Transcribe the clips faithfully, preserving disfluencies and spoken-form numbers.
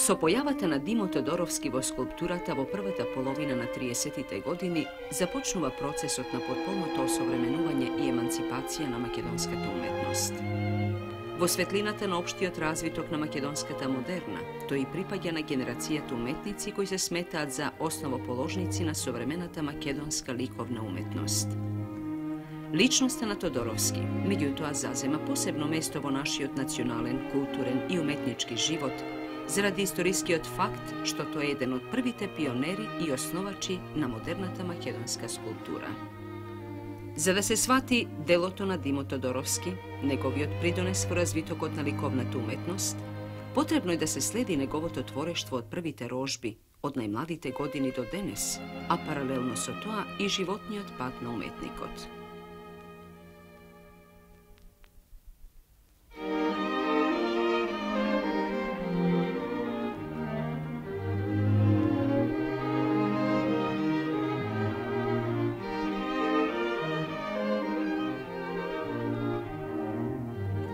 Со појавата на Димо Тодоровски во скулптурата во првата половина на триесеттите години започнува процесот на потполното осовременување и еманципација на македонската уметност. Во светлината на општиот развиток на македонската модерна, тој припаѓа на генерацијата уметници кои се сметаат за основоположници на современата македонска ликовна уметност. Личноста на Тодоровски, меѓутоа, зазема посебно место во нашиот национален, културен и уметнички живот, заради историскиот факт што тој е еден од првите пионери и основачи на модерната македонска скулптура. За да се свати делото на Димо Тодоровски, неговиот придонес во развитокот на ликовната уметност, потребно е да се следи неговото творештво од првите рожби, од најмладите години до денес, а паралелно со тоа и животниот пат на уметникот.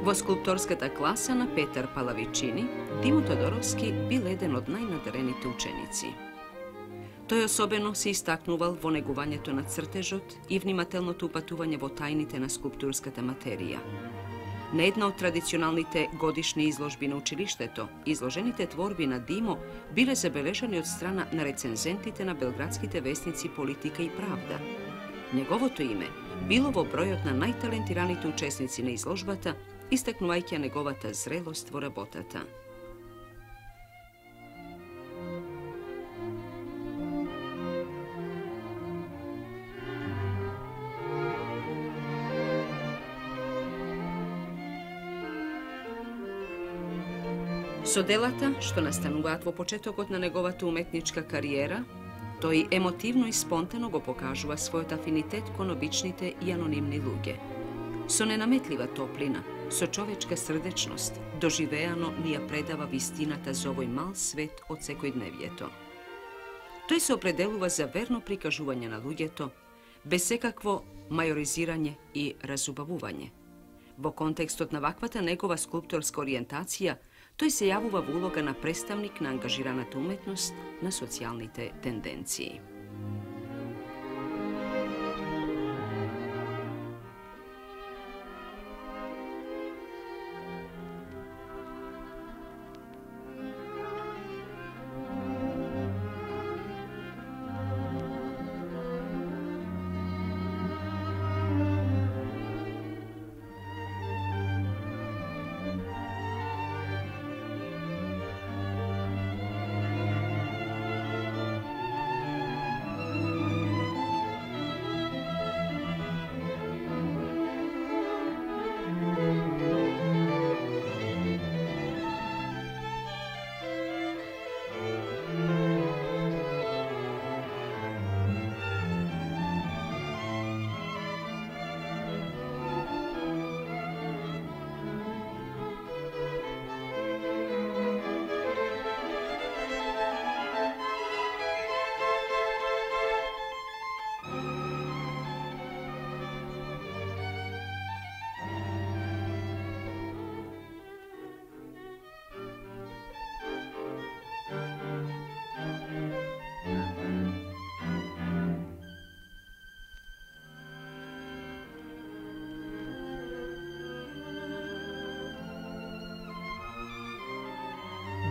Во скулпторската класа на Петар Палавичини, Димо Тодоровски бил еден од најнадарените ученици. Тој особено се истакнувал во негувањето на цртежот и внимателното упатување во тајните на скулптурската материја. На една од традиционалните годишни изложби на училиштето, изложените творби на Димо биле забележани од страна на рецензентите на белградските вестници Политика и Правда. Неговото име било во бројот на најталентираните учесници на изложбата, истакнувајќи неговата зрелост во работата. Со делата, што настануваат во почетокот на неговата уметничка кариера, тој емотивно и спонтано го покажува својот афинитет кон обичните и анонимни луѓе. Со ненаметлива топлина, со човечка срдечност, доживеано ни ја предава вистината за овој мал свет од секојдневието. Тој се определува за верно прикажување на луѓето, без секакво мајоризирање и разубавување. Во контекстот на ваквата негова скулпторска ориентација, тој се јавува во улога на представник на ангажираната уметност на социјалните тенденции.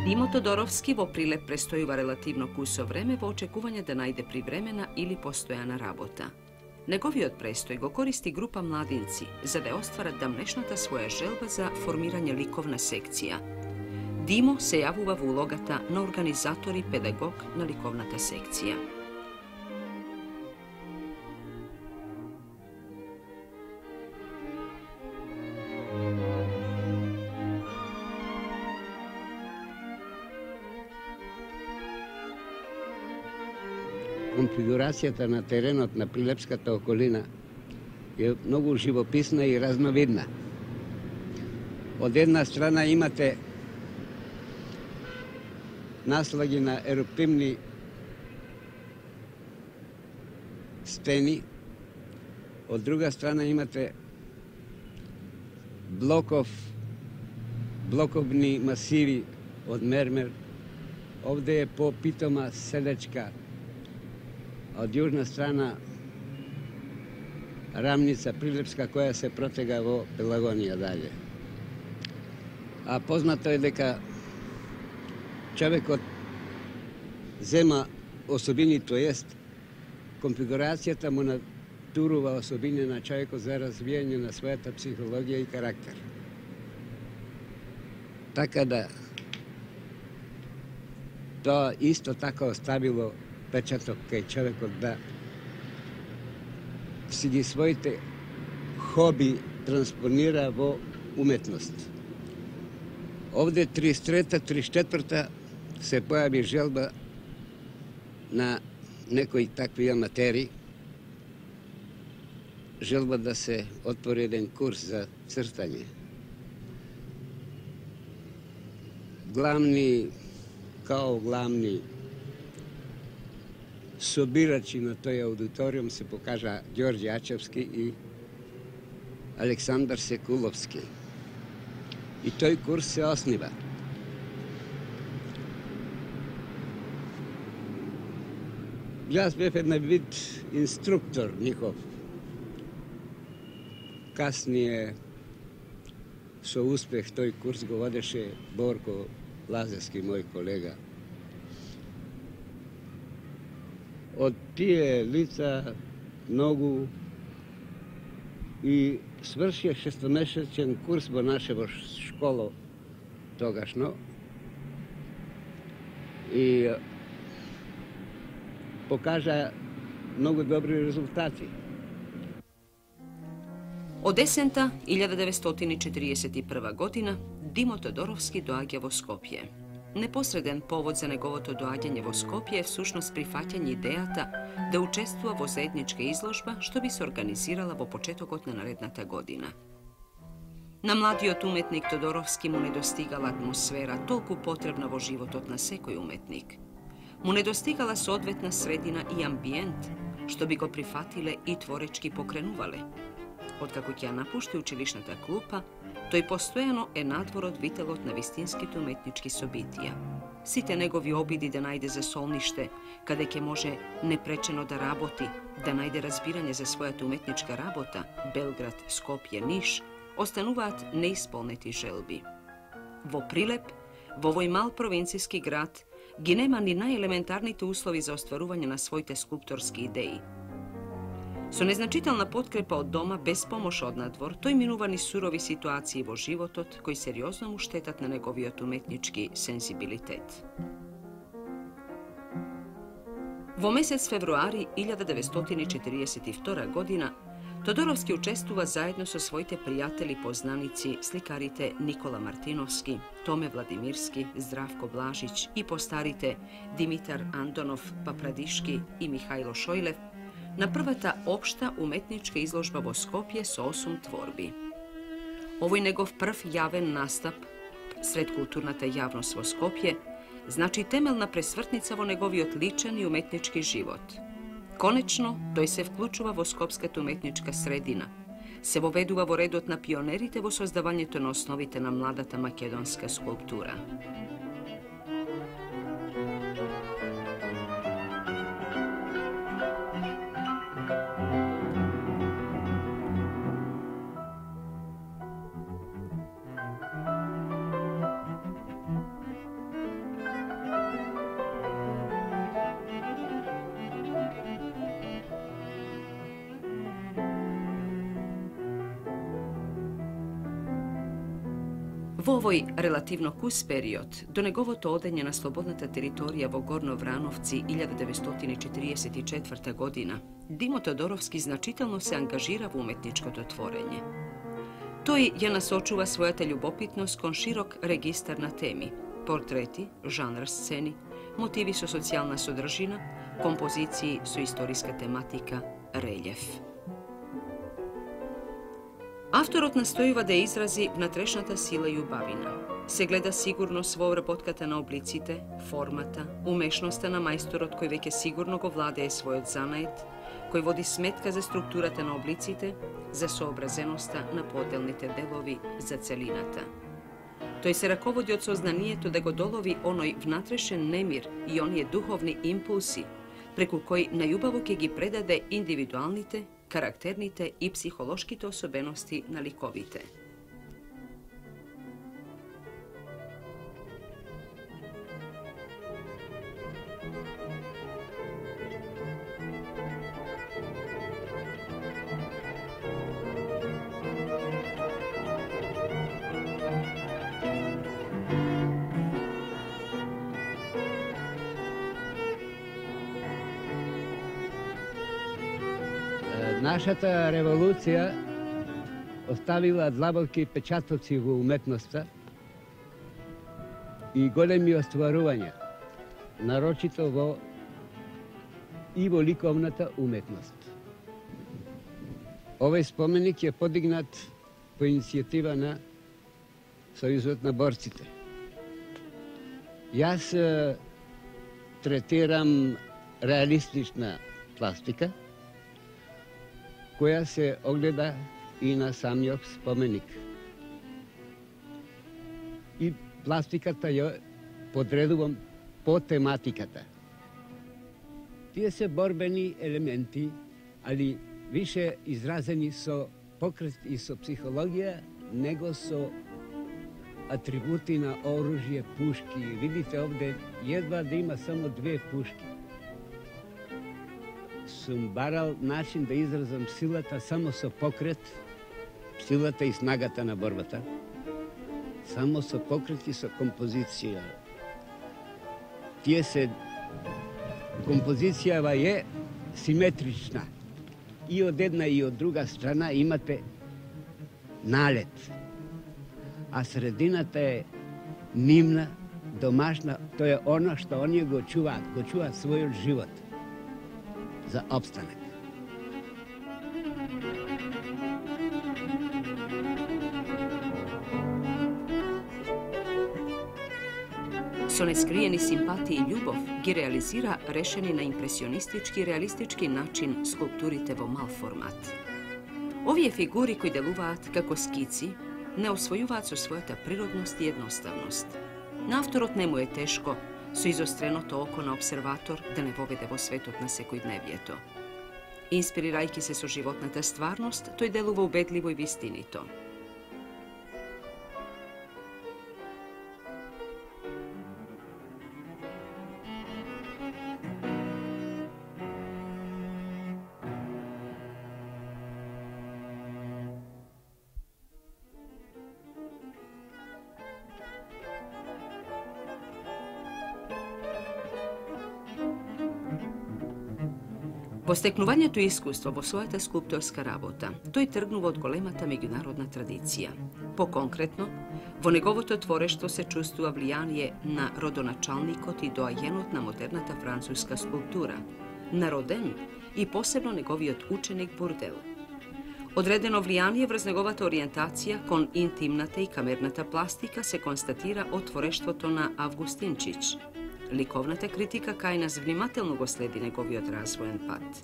Димо Тодоровски во Прилеп престојува релативно кусо време во очекување да најде привремена или постојана работа. Неговиот престој го користи група младинци за да остварат дамнешната своја желба за формирање ликовна секција. Димо се јавува во улогата на организатор и педагог на ликовната секција. Конфигурацијата на теренот на Прилепската околина е многу живописна и разновидна. Од една страна имате наслаги на еруптивни стени, од друга страна имате блоков, блоковни масиви од мермер Ovde je popitoma selečka, a od južna strana рамница Прилепска која се протега во Пелагонија далje. А познато е дека човекот зема особини, то jest конфигурацијата му натурува особини на човекот за развијање на својата психологија и карактер. Така да тоа исто така оставило печаток кај човекот да си ги своите хоби транспонира во уметност. Овде триесет и трета триесет и четврта се појави желба на некои такви аматери, желба да се отвори еден курс за цртање. Главни, као главни собирачи на тој аудиториум се покажа Ѓорѓе Ачевски и Александар Секуловски. И тој курс се оснива. Јас бев една вид инструктор нихов. Каснije со успех тој курс го водеше Борко Лазевски, мој колега. Од тие лица многу и свршија шестомесечен курс во нашево школо тогашно и покажа многу добри резултати. Од есента илјада деветстотини четириесет и прва година Димо Тодоровски доаѓа во Скопје. Непосреден повод за неговото доаѓање во Скопје е всушност прифаќање идејата да учествува во заедничка изложба што би се организирала во почетокот на наредната година. На младиот уметник Тодоровски му недостигала атмосфера толку потребна во животот на секој уметник. Му недостигала соодветна средина и амбиент што би го прифатиле и творечки покренувале. Откако ќе ја напушти училишната клупа, тој постојано е надвор од вителот на вистинските уметнички собитија. Сите негови обиди да најде за солниште, каде ќе може непречено да работи, да најде разбирање за својата уметничка работа, Белград, Скопје, Ниш, остануваат неисполнети желби. Во Прилеп, во овој мал провинцијски град, ги нема ни најелементарните услови за остварување на своите скулпторски идеи. Со незначителна подкрепа од дома, без помош од надвор, тој минува ни сурови ситуации во животот, кои сериозно му штетат на неговиот уметнички сензибилитет. Во месец февруари илјада деветстотини четириесет и втора година Тодоровски учествува заедно со своите пријатели познаници, сликарите Никола Мартиновски, Томе Владимирски, Здравко Блажиć и постарите Димитар Андонов, Папрадишки и Михајло Шојлев на првата општа уметничка изложба во Скопје со осум творби. Овој негов прв јавен настап сред културната јавност во Скопје значи темелна пресвртница во неговиот личен и уметнички живот. Конечно, тој се вклучува во скопската уметничка средина, се воведува во редот на пионерите во создавањето на основите на младата македонска скулптура. Во овој релативно кус период, до неговото одење на слободната територија во Горно Врановци илјада деветстотини четириесет и четврта година, Димо Тодоровски значително се ангажира во уметничкото творење. Тој ја насочува својата љубопитност кон широк регистар на теми: портрети, жанр сцени, мотиви со социјална содржина, композиции со историска тематика, релјеф. Авторот настојува да изрази внатрешната сила и убавина. Се гледа сигурност во обработката на облиците, формата, умешноста на мајсторот кој веќе сигурно го владее својот занает, кој води сметка за структурата на облиците, за сообразеноста на поделните делови за целината. Тој се раководи од сознанието да го долови оној внатрешен немир и оние духовни импулси, преку кои најубаво ќе ги предаде индивидуалните, карактерните и психолошките особености на ликовите. Нашата револуција оставила длабоки печатоци во уметноста и големи остварувања, нарочито во и во ликовната уметност. Овој споменик е подигнат по иницијатива на Сојузот на борците. Јас третирам реалистична пластика, која се огледа и на самиот споменик. И пластиката ја подредувам по тематиката. Тие се борбени елементи, али више изразени со покрет и со психологија, него со атрибути на оружје, пушки. Видите овде, едва да има само две пушки. Сум барал начин да изразам силата само со покрет, силата и снагата на борбата, само со покрет и со композиција. Тие се, композицијава е симетрична. И од една и од друга страна имате налет, а средината е нивна, домашна, тоа е оно што оние го чуваат, го чуваат својот живот за обстанок. Со нескриени симпатии и љубов ги реализира решени на импресионистички и реалистички начин скулптурите во мал формат. Овие фигури кои делуваат како скици не освојуваат со својата природност и едноставност. На авторот не му е тешко со изостреното око на обсерватор да не воведе во светот на секојдневието. Инспирирајќи се со животната стварност, тој делува убедливо и вистинито. Во стекнувањето искуство во својата скулпторска работа, тој тргнува од големата меѓународна традиција. По-конкретно, во неговото творештво се чувствува влијание на родоначалникот и доајенот на модерната француска скулптура, на Роден и посебно неговиот ученик Бурдел. Одредено влијание врз неговата ориентација кон интимната и камерната пластика се констатира од творештвото на Августинчич. Ликовната критика кај нас внимателно го следи неговиот развоен пат.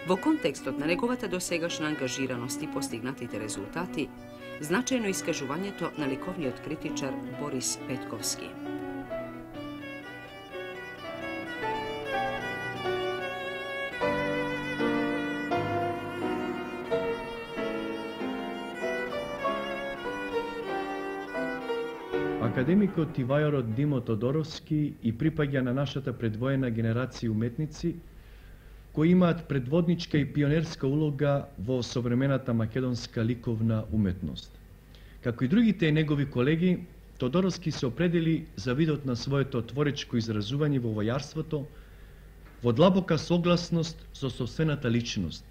Во контекстот на неговата досегашна ангажираност и постигнатите резултати, значајно искажувањето на ликовниот критичар Борис Петковски. Академикот и вајарот Димо Тодоровски и припаѓа на нашата предвоена генерација уметници кои имаат предводничка и пионерска улога во современата македонска ликовна уметност. Како и другите негови колеги, Тодоровски се определи за видот на своето творечко изразување во војарството, во длабока согласност со собствената личност,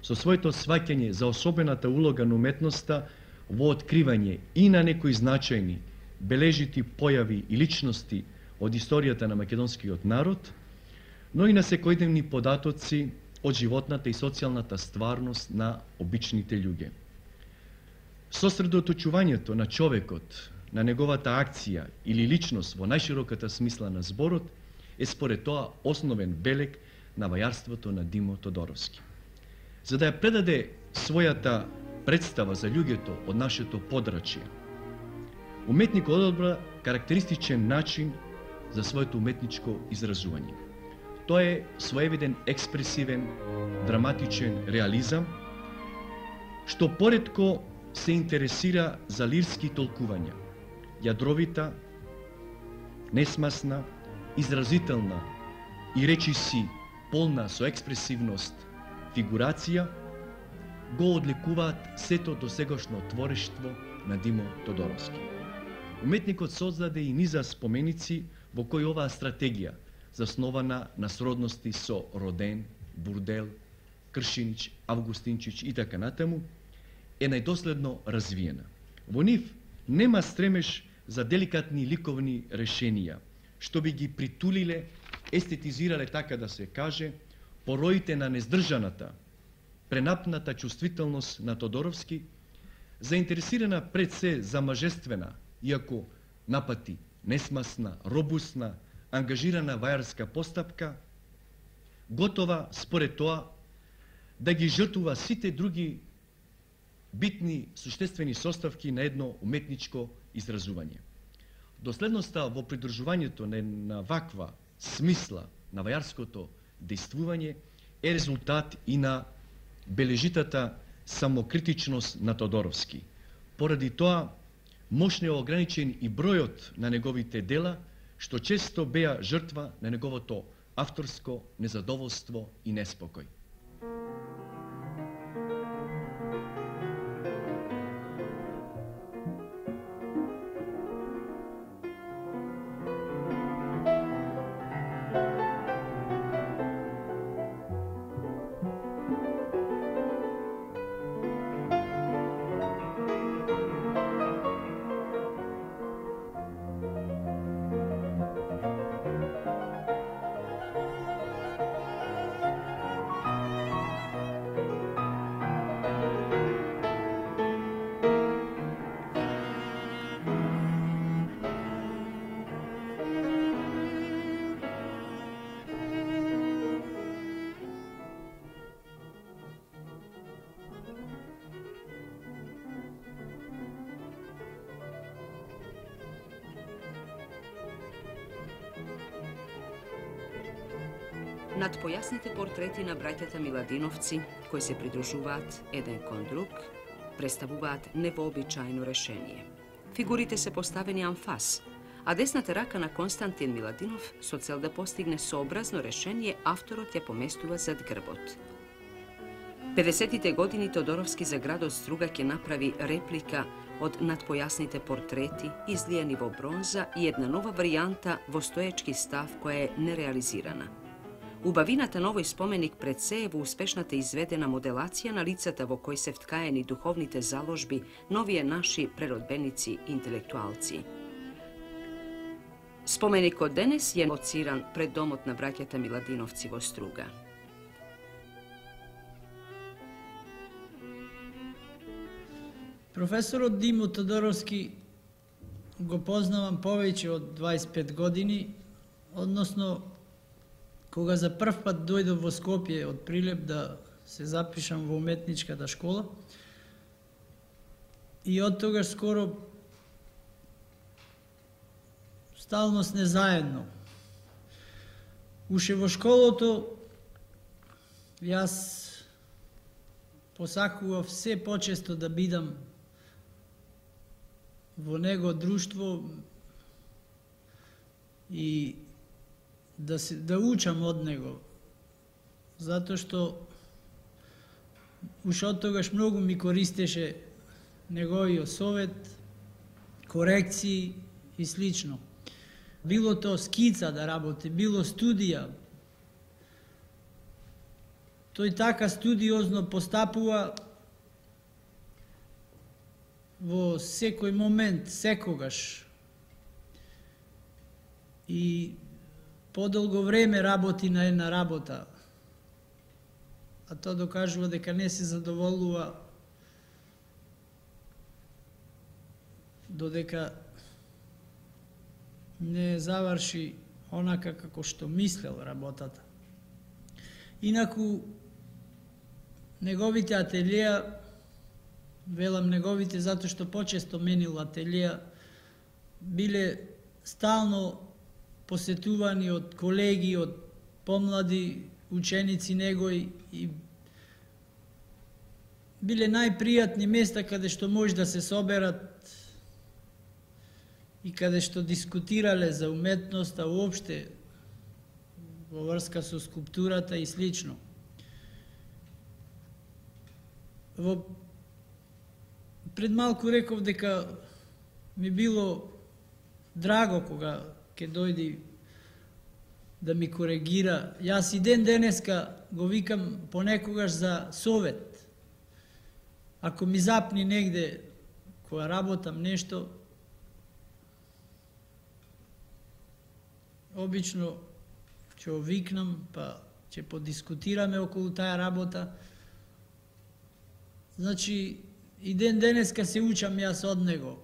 со своето сваќање за особената улога на уметноста во откривање и на некои значајни бележити појави и личности од историјата на македонскиот народ, но и на секојдневни податоци од животната и социјалната стварност на обичните луѓе. Сосредоточувањето на човекот, на неговата акција или личност во најшироката смисла на зборот е според тоа основен белег на вајарството на Димо Тодоровски. За да ја предаде својата представа за луѓето од нашето подрачје, Уметникот одобра карактеристичен начин за своето уметничко изразување. Тоа е своевиден експресивен, драматичен реализам, што поретко се интересира за лирски толкувања, јадровита, несмасна, изразителна и речиси полна со експресивност фигурација, го одликуваат сето досегашно творештво на Димо Тодоровски. Уметникот создаде и низа споменици во кои оваа стратегија, заснована на сродности со Роден, Бурдел, Кршинич, Августинчич и така натаму, е најдоследно развиена. Во нив нема стремеж за деликатни ликовни решенија, што би ги притулиле, естетизирале, така да се каже, пороите на нездржаната, пренапната чувствителност на Тодоровски, заинтересирана пред се за мажествена, иако напати несмасна, робусна, ангажирана вајарска постапка, готова според тоа да ги жртвува сите други битни суштествени составки на едно уметничко изразување. Доследноста во придржувањето на ваква смисла на вајарското дејствување е резултат и на бележитата самокритичност на Тодоровски. Поради тоа, мощно е ограничен и бројот на неговите дела, што често беа жртва на неговото авторско незадоволство и неспокој. Над појасните портрети на браќата Миладиновци, кои се придружуваат еден кон друг, представуваат невообичаено решение. Фигурите се поставени анфас, а десната рака на Константин Миладинов, со цел да постигне сообразно решение, авторот ја поместува зад грбот. педесетите години Тодоровски за градот Струга ќе направи реплика од надпојасните портрети, излијани во бронза и една нова варијанта во стоечки став која е нереализирана. Убавината на овој споменик пред се е во успешната изведена моделација на лицата во кои се вткаени духовните заложби на овие наши преродбеници интелектуалци. Споменикот денес е лоциран пред домот на браќата Миладиновци во Струга. Професорот Димо Тодоровски го познавам повеќе од дваесет и пет години, односно кога за прв пат дојдов во Скопје од Прилеп да се запишам во уметничката школа, и од тогаш скоро стално сме заедно. Уште во школото јас посакував се почесто да бидам во него друштво и да се да учам од него, затоа што уште од тогаш многу ми користеше неговиот совет, корекции и слично. Било то скица да работи, било студија. Тој така студиозно постапува во секој момент, секогаш. И подолго време работи на една работа, а тоа докажува дека не се задоволува додека не заврши онака како што мислел работата. Инаку, неговите ателија, велам неговите затоа што почесто менил ателија, биле стално посетувани од колеги, од помлади ученици негови и биле најпријатни места каде што може да се соберат и каде што дискутирале за уметноста уопште во врска со скулптурата и слично. Во пред малку реков дека ми било драго кога ќе дојди да ми коригира. Јас и ден денеска го викам понекогаш за совет. Ако ми запни негде кога работам нешто, обично ќе го викнам, па ќе подискутираме околу таа работа. Значи, и ден денеска се учам јас од него.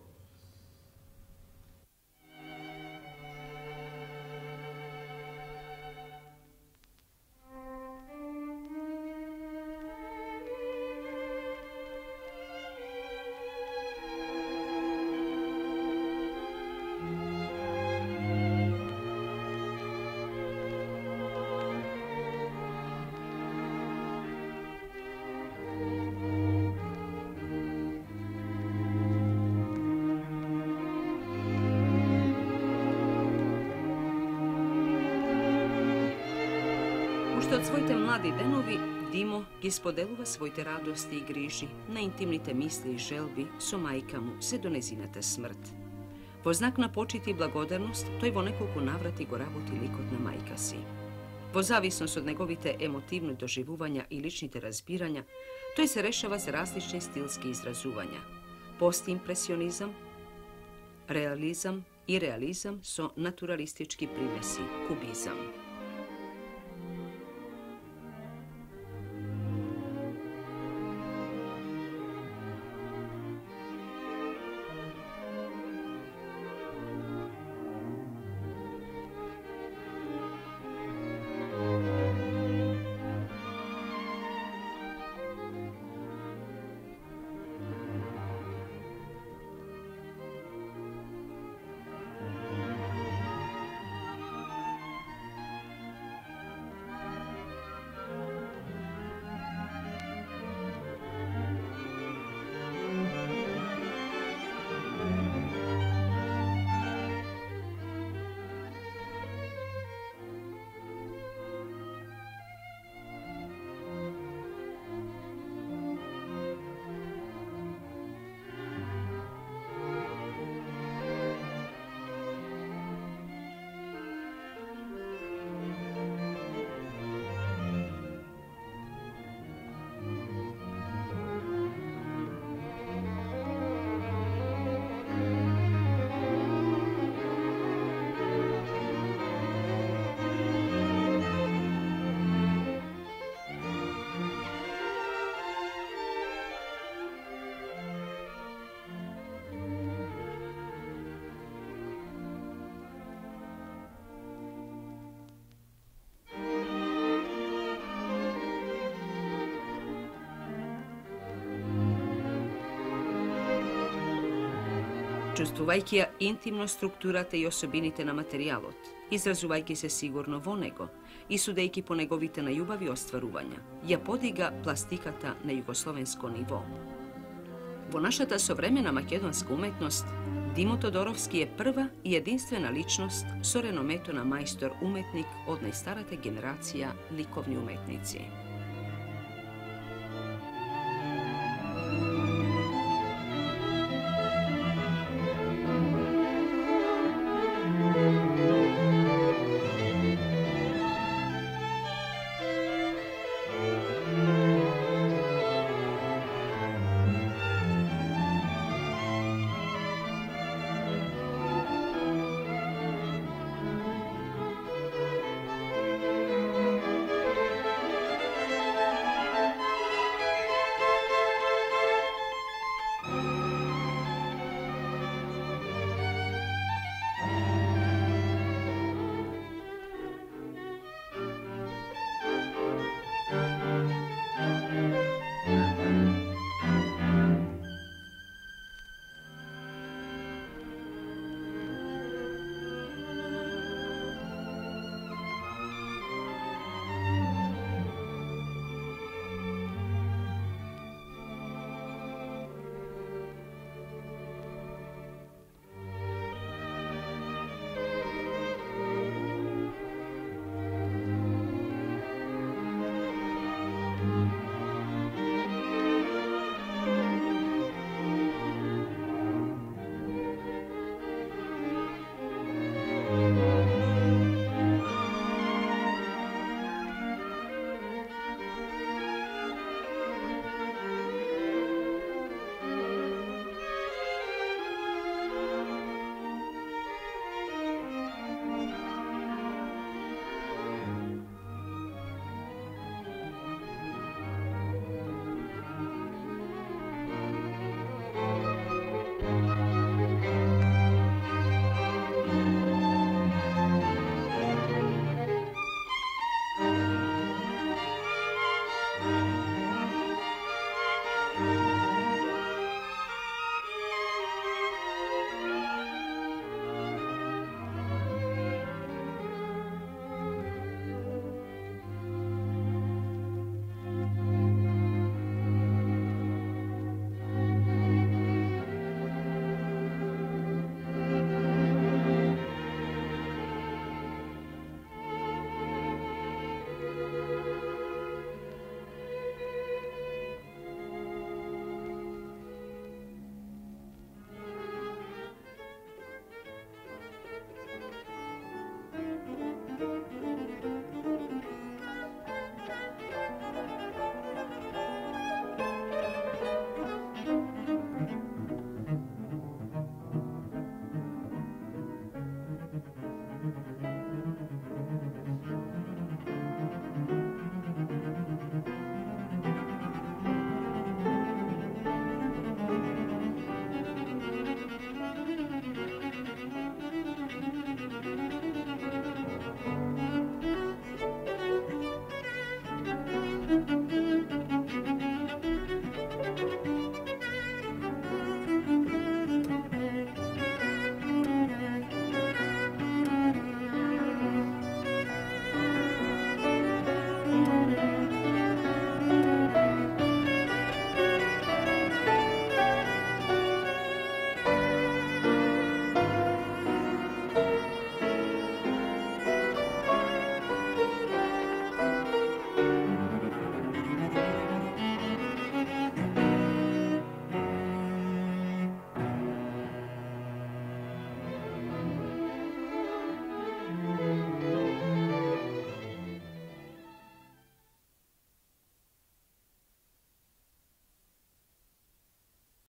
Уште од своите млади денови, Димо ги споделува своите радости и грижи, наинтимните мисли и желби со мајка му се до незината смрт. Во знак на почит и благодарност, тој во неколку наврати го работи ликот на мајка си. Во зависност од неговите емотивни доживувања и личните разбирања, тој се решава за различни стилски изразувања. Постимпресионизам, реализам и реализам со натуралистички примеси, кубизам. Чувствувајќи ја интимно структурата и особините на материјалот, изразувајќи се сигурно во него и судејќи по неговите најубави остварувања, ја подига пластиката на југословенско ниво. Во нашата современа македонска уметност, Димо Тодоровски е прва и единствена личност со реномето на мајстор уметник од најстарата генерација ликовни уметници.